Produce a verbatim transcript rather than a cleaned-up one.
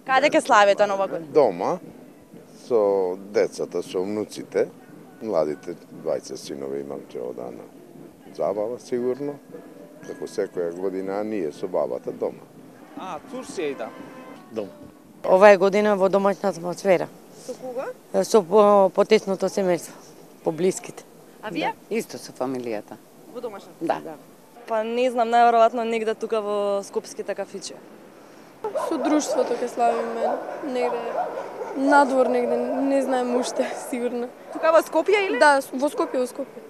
Каде ќе славите нова година? Дома, со децата, со внуците, младите двајца синови имам ќе одам на забава сигурно, како секоја година, а ние со бабата дома. А, Турција и да. Дом. Ова е година во домашна атмосфера. Со кого? Со по- потесното семејство, поблиските. А вие? Исто со фамилијата. Во домашна? Да. Па не знам, најверојатно негде тука во скопските кафичи. Со друштвото ќе славиме негде надвор негде, не знаем уште сигурно. Тука во Скопје или? Да, во Скопје, во Скопје.